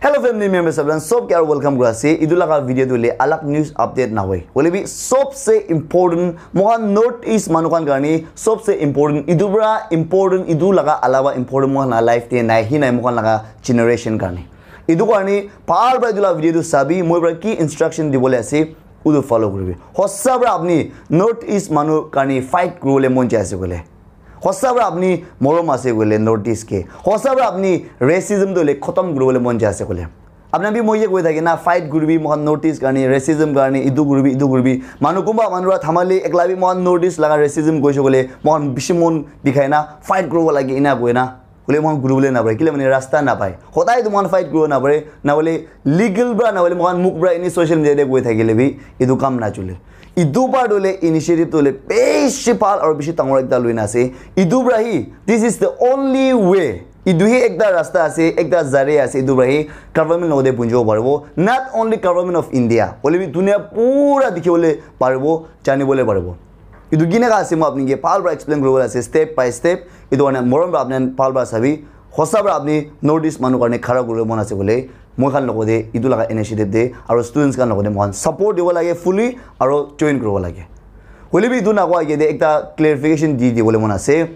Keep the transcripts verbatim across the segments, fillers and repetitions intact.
Hello family members, apni khan sob ke aru welcome kuri ase. Etu laga video tu le alag news update na hoi. Hoile bi sobse important, mohan North East manu khan karne sobse important. Etu pura important, etu laga alawa important mohan laga life te nai, hi nai mohan laga generation karne. Etu karne bhal para etu laga video tu sabi, moi para ki instruction dibole ase, utu follow kuribi. Hosa para apni North East manu karne fight kuribole mon jai ase koile, hosa para apni morom ase koile North East ke, hosa para apni racism tu le khotom kuribole mon jai ase koile, apni bi moi ye koi thake na, fight kuribi mohan North East karne, racism karne, idu kuribi, idu kuribi. Manu kumba manu ra thamali ekla bi mohan North East laga racism koise koile, mohan bishi mon dikhai na fight kuribo lage ina koi na. Hoile mohan kuribole na pare, kile mane rasta na pai. Hodai tu mohan fight kuribo na pare, na hoile legal bra, na hoile mohan muk bra ini social media de koi thakile bi etu kam na chule. Etu part hole initiative tu hole bishi bhal aru bishi dangor ekta loina ase. Etu para hi, this is the only way. Etu hi ekta rasta ase, ekta zaria ase, etu para hi government logote punjibo paribo. Not only government of India, hoile bi dunia pura dikhibole paribo, janibole paribo. Etu kineka ase moi apni ke bhal para explain kuribole ase step by step. Etu karne morom para apni bhal para sabi. Hosa para apni North East manu karne khara kuribo mon ase koile, moi khan logote etu laga initiative de aru students khan logote moikhan support dibo lage fully aru join kuribo lage. Hoile bi etu nakoa age de ekta clarification di dibole mon ase.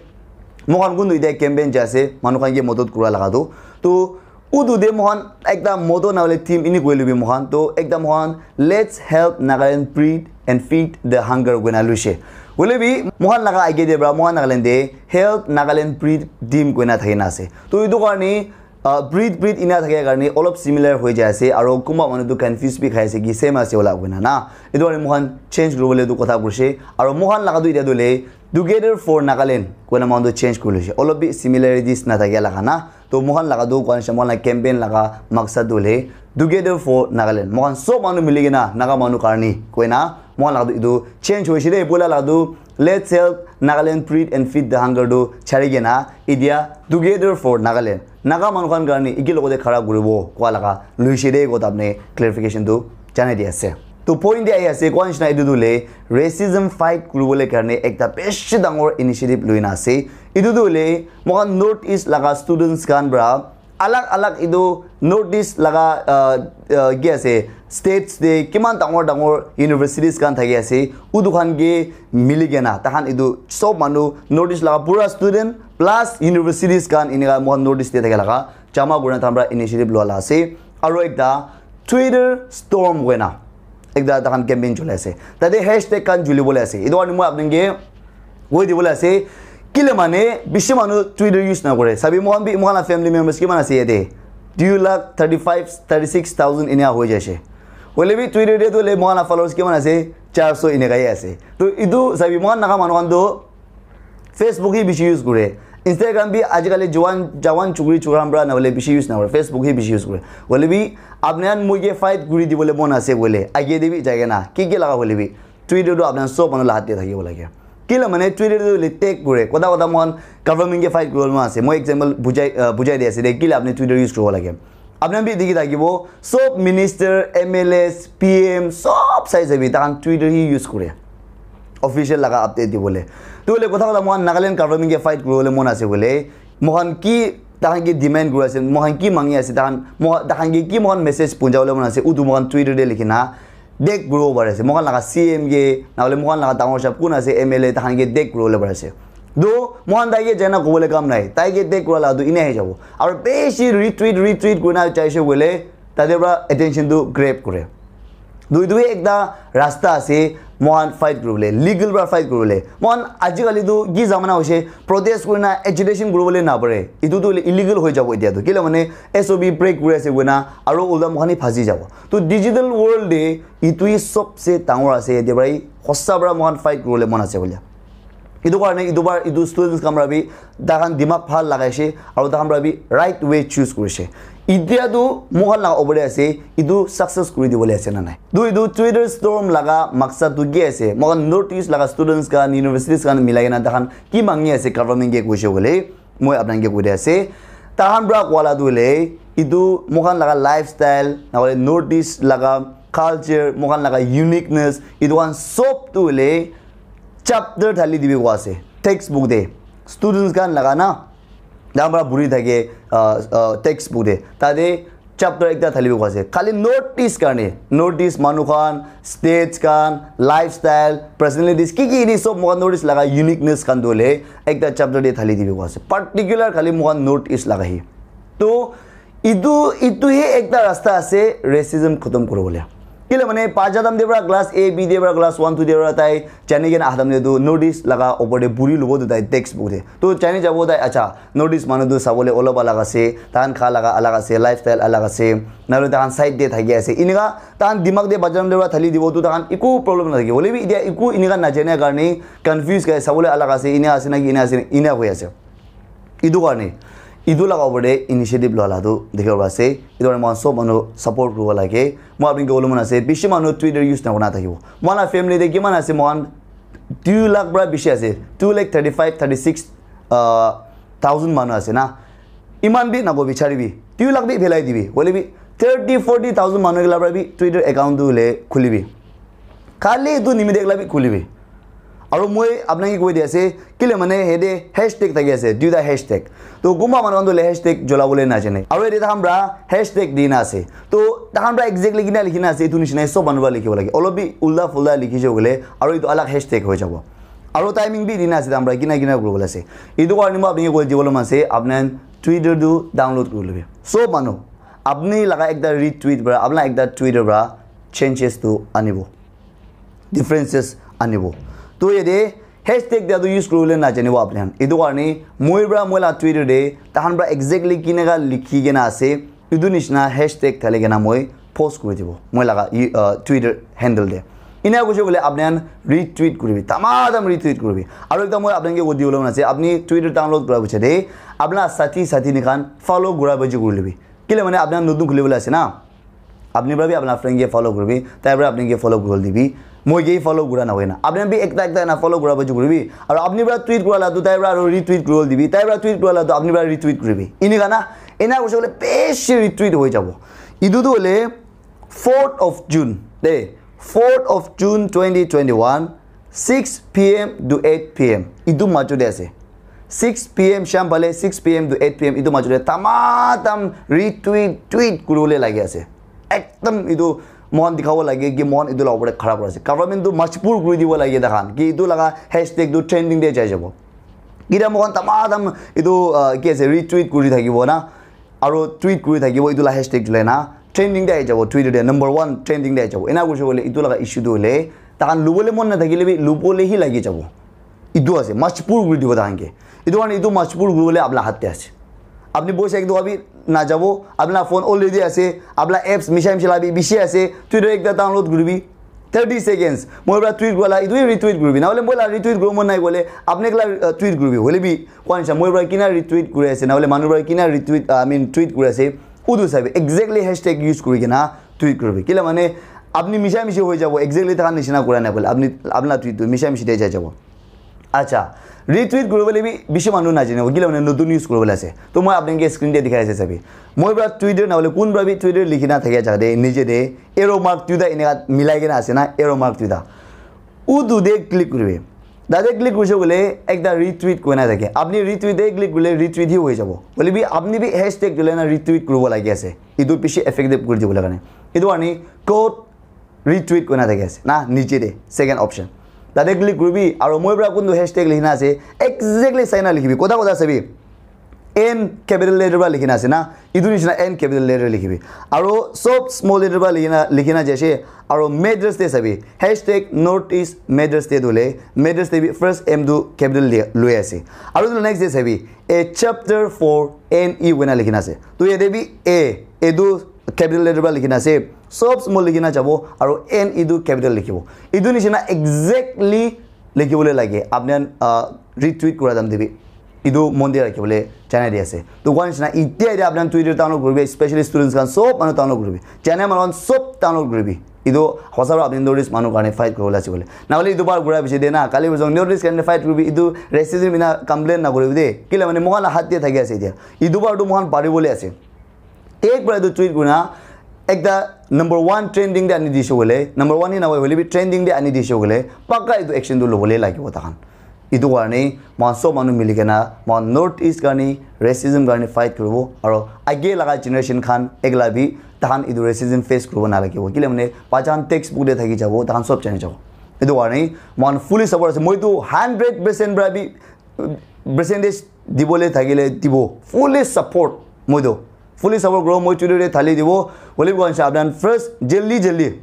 Moikhan kuntu etia campaign jai ase, manu khan ke madad kura laga tu. Tu utu de moikhan ekta motto na hoile theme ini koi lubi moikhan. Tu ekta moikhan, "Let's help Nagaland breathe and feed the hunger," koina luise. Hoile bi moikhan laga age de bra, moikhan Nagaland de "Help Nagaland breathe" theme koina thakina ase. Tu etu karne uh, breathe, breathe ina thakia karne olop similar hoi jai ase, aro kunba manu tu confuse bi khai ase ki same ase wala koina na. Etu karne moikhan change kuribole etu kotha kurise, aro moikhan laga tu etia tu le "Together for Nagaland" koina moikhan tu change kuri loise, olop bi similarities na thakia laga na. To moikhan laga tu koa nisina moikhan laga campaign laga maksad tu le "Together for Nagaland", moikhan sob manu mili kena Naga manu karne koina moikhan laga tu etu change hoise de, poila laga tu "Let's help Nagaland breathe and feed the hunger" tu chari kena etia "Together for Nagaland", Naga manu khan karne eki logote khara kuribo koa laga luise de, koa apni clarification tu janai di ase. To point de ahi ase, koa nisina etu tu le racism fight kuribole karne ekta bishi dangor initiative luina ase. Etu tu le moikhan North East laga students khan para alag alag etu North East laga, uh, uh, ki ase, states te kiman dangor dangor universities khan thaki ase, utu khan ke mili kena, takhan etu sob manu North East laga pura student plus universities khan enika moikhan North East te thaki laga jama kurina takhan para initiative loa la ase. Aro ekta Twitter storm koina ekta takhan campaign cholai ase. Tate hashtag khan julibole ase. Etu karne moi apni ke koi dibole ase. Kile mane bishi manu Twitter use na kore. Sabi moikhan bi, moikhan la family members kiman ase yate? Two lakh thirty-five, thirty-six thousand enia hoi jaise. Hoile bi Twitter te tu le moikhan la followers kiman ase? Char so eneka hi ase. To etu sabi moikhan Naga manu khan tu Facebook hi bishi use kore. Instagram bi ajikali jawan, jawan chukri chukram para na hoile bishi use na kore. Facebook hi bishi use kore. Hoile bi apni khan moi ke fight kuri dibole mon ase koile, age de bi jai kena, ki ki laga hoile bi, Twitter tu apni khan sob manu la hat te thakibo lage. Kila mane Twitter tu le tag kore. Kotha kotha moikhan government ke fight kuribole mon ase. Moi example bujai, uh, bujai di ase de. Kila apni Twitter use kuribo lage. Apni khan bi dikhi thakibo, sob minister, M L As, P M, sob sai sabi, takhan Twitter hi use kore. Official laga update dibole. Tu hoile kotha kotha moikhan Nagaland government ke fight kuribole mon ase koile, moikhan ki, takhan ki demand kuri ase, moikhan ki mangi ase, takhan, mo-, takhan ke ki moikhan message punjabole mon ase, utu moikhan Twitter te likhi na tag kuribo pari ase. Moikhan laga C M ke, na hoile moikhan laga dangor sahab kun ase, M L A, takhan ke tag kuribole pari ase. Do, moikhan tai ke jaina kobole kam nai. Tai ke tag kura la tu ina hi jabo. Aru bishi retweet, retweet kurina jaise koile, tate para attention tu grab kore. Tu etu ekta rasta ase, moikhan fight kuribole, legal para fight kuribole. Moikhan ajikali tu ki zamana hoise, protest kurina agitation kuribole na pare. Etu tu illegal hoi jabo etia tu. Kile mane S O P break kuri ase koina, aru ulta moikhan hi phasi jabo. Tu digital world de etu hi sobse dangor ase, yate para hi hosa para moikhan fight kuribole mon ase koile. Etu karne etu bar etu students khan para bi takhan dimag bhal lagaise aru takhan para bi right way choose kurise. Etia tu moikhan laga opor te ase, etu success kuri dibole ase na nai. Tu etu Twitter storm laga maksad tu ki ase? Moikhan North East laga students khan, universities khan milai kena takhan ki mangi ase government ke koise koile, moi apni khan ke koi di ase. Takhan para koa la tu hoile, etu moikhan laga lifestyle, na hoile North East laga culture, moikhan laga uniqueness, etu khan sob tu hoile chapter thali dibi koa ase. Textbook de. Students khan laga na, dangor para buri thake, uh, uh, textbook de. Tate Chapter ekta thali bi ase khali North East karne. North East manu khan, states khan, lifestyle, personalities, ki ki ini sob moikhan North East laga uniqueness khan tu hoile ekta chapter te thali dibi ase. Particular khali moikhan North East laga hi. To itu itu he ekta rasta ase racism khotom kuribole. Kile mane paja dam de pra class A B de pra class one two de pra tai jani kena ahadam de tu North East laga opor de buri lubo tu tai textbook de. To jani jabo tai acha North East manu tu sabole olop alag ase, tahan kha laga alag ase, lifestyle alag ase, naru tahan side de thaki ase. Inika tahan dimag de bajaram de pra thali dibo tu tahan iku problem na thaki. Hoile bi itia iku inika na jane karne confuse kai sabole alag ase, ina ase na ki ina ase, ina hoi ase. Itu karne itu laga opor de initiative loa la tu dikhibo ase. Itu karne moikhan sob manu support kuribo lage. Moi apni ke bole mon ase bishi manu Twitter use na kurina thakibo. Moikhan la family de kiman ase, moikhan two lakh pra bishi ase, two lakh thirty five thirty six uh, thousand manu ase na. Iman bi nago bichari bi two lakh bi phelai dibi hoile bi thirty forty thousand manu ke la pra bi Twitter account tu le khulibi. Khali itu nimite ekla bi khulibi. Aru moi apnake koi di ase kile mane hede hashtag thaki ase, duita hashtag. To kunba manu khan tu le hashtag jola bole na jane. Aru ede tahan pra hashtag di na ase. To tahan pra exactly kina likhi na ase itu nishina sob manu pra likhibo lage. Olop bi ulta fulta likhi je bole aru itu alag hashtag hoi jabo. Aru timing bi di na ase tahan pra kina kina kuribole ase. Itu karne moi apnake koi dibole mon ase apnan Twitter tu download kuri lobi. Sob manu apni laga ekta retweet pra apna ekta Twitter pra changes tu anibo. Differences anibo. To yede hashtag dia tu use kuribole na janibo apni khan. Itu karne moi pra moi la Twitter de tahan pra exactly kineka likhi kena ase itu nishina hashtag thali kena moi post kuri dibo moi laga uh, Twitter handle de. Ina kuche bole apni khan retweet kuribi, tamadam retweet kuribi. Aru ekta moi apni ke koi dibole mon ase apni Twitter download kura piche de apna sathi sathi ni khan follow kura baji kuri libi. Kile mane apni khan notun khulibole ase na. Apni pra bi apna friend ke follow kuribi, tai pra apni ke follow kuri dibi. Moi ke follow kura na hoina. Apni bi ekta ekta na follow kura baji kuribi. Aru apni pra tweet kura la tu tai pra aru retweet kuri dibi. Tai pra tweet kura la tu apni pra retweet kuribi. Ini kana ena kuche bole beshi retweet hoi jabo. Itu tu hole fourth of June. De, fourth of June twenty twenty-one, six p.m. to eight p.m. Itu majo de ase. Six p.m. sham phale six p.m. to eight p.m. itu majo de tamatam retweet tweet kuribole lagi ase. Ekdam itu mohan dikhabo lage ki mohan itu la opor de khara kura ase. Government tu majbur kuri dibo lage takhan ki itu laga hashtag tu trending de jai jabo. Kida mohan tamatam itu uh, ki ase retweet kuri thakibo na. Aru tweet kuri thakibo itu la hashtag julai na trending de ahi jabo Twitter de number one trending de ahi jabo. Ena kuche bole itu laga issue tu hole takhan lubole mon na thakile bi lubole hi lagi jabo. Itu ase majbur kuri dibo takhan ke. Itu karne itu majbur kuribole apna hat te ase. Apni boisa ek doka bi na jabo, apna phone already ase, apna apps misha misha la bi bishi ase, Twitter ekta download kuribi. Thirty seconds. Moi pra tweet kurala itu retweet kuribi. Na hole moi la retweet kuribo mon nai kole apni ekla uh, tweet kuribi. Hole bi kwan sa moi pra kina retweet kuri ase, na hole manu pra kina retweet uh, I mean tweet kuri ase. Udu sabi exactly hashtag use kuri kena tweet kuribi. Kila mane apni misha mishi hoi jabo exactly takhan nishina kura nai kole apni apna tweet tu misha mishi de jai jabo. Acha, retweet kuribole bi bishi manu na jane kila mane notun use kuribole ase. To moi apni ke screen de dikhai ase sabi. Moi pra Twitter na hole kun pra bi Twitter likhi na thakia jaga de nije de arrow mark tuita eneka milai kena ase na arrow mark tuita. Udu de click kuribi. Tate click kurise kole ekta retweet koina thake. Apni retweet de click kurile retweet hi hoi jabo. Hole bi apni bi hashtag julai na retweet kuribo lagi ase. Itu bishi effective kuri dibole karne. Itu ani code retweet koina thaki ase na niche de second option. Tate click kuribi aru moi pra kuntu hashtag likhina ase exactly saina likhibi. Kotha kotha sabi. N capital letter pra likhina ase na. Itu nishina N capital letter likhibi. Aru sob small letter pra likhina likhina jaise. Aru matters te sabi. Hashtag North East matters te dole. Matters te bi first M tu capital le loi ase. Aru tu next te sabi. A chapter for N E wena likhina ase. Tu yate bi A. A tu capital letter pra likhina ase. Sob small likhina jabo. Aru N E tu capital likhibo. Itu nishina exactly likhibole lage apni khan uh, retweet kura dam dibi. Itu mon de rakhibole janai di ase. To kwan nishina itia itia apni khan Twitter download kuribi, especially students khan sob manu download kuribi. Janai manu khan sob download kuribi. Itu hosa pra apni North East manu karne fight kuribole ase bole. Na hole itu bar kura bishi de na kali bojong North East karne fight kuribi. Itu racism ina complain na kuribi de. Kila mane mohan la hat de thaki ase itia. Itu bar tu mohan paribole ase. Ek bara etu tweet kurina ekta number one trending te ani dise hoile, number one hi nahoi hoile bi trending te ani dise hoile, pakka etu action tu lobole lagibo takhan. Etu karne moikhan sob manu mili kena moikhan North East karne, racism karne fight kuribo, aro age laga generation khan ekla bi tahan etu racism face kuribo nalagibo. Kile mane pachan textbook te thaki jabo, tahan sob jani jabo. Etu karne moikhan fully support ase. Moi tu hundred percent pra bi percentage dibole thakile dibo, fully support. Moi tu fully support kuro, moi Twitter te thali dibo. Hoile bi koan sa apnan first jaldi jaldi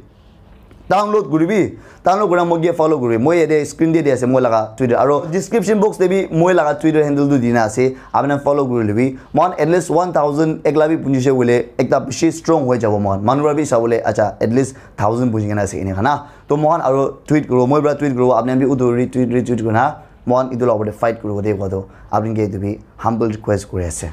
download kuribi, download kura moi ke follow kuribi. Moi yate screen te di ase moi laga Twitter, aro description box te bi moi laga Twitter handle tu dina ase, apnan follow kuri libi. Moikhan at least one thousand ekla bi punjise hoile ekta bishi strong hoi jabo. Moikhan manu para bi sabole acha at least thousand punji kena ase ene kana. To moikhan aro tweet kuro, moi para tweet kuro, apnan bi utu retweet retweet kurna moikhan etu la opor te fight kuribo de koa to apni ke etu bi humble request kuri ase.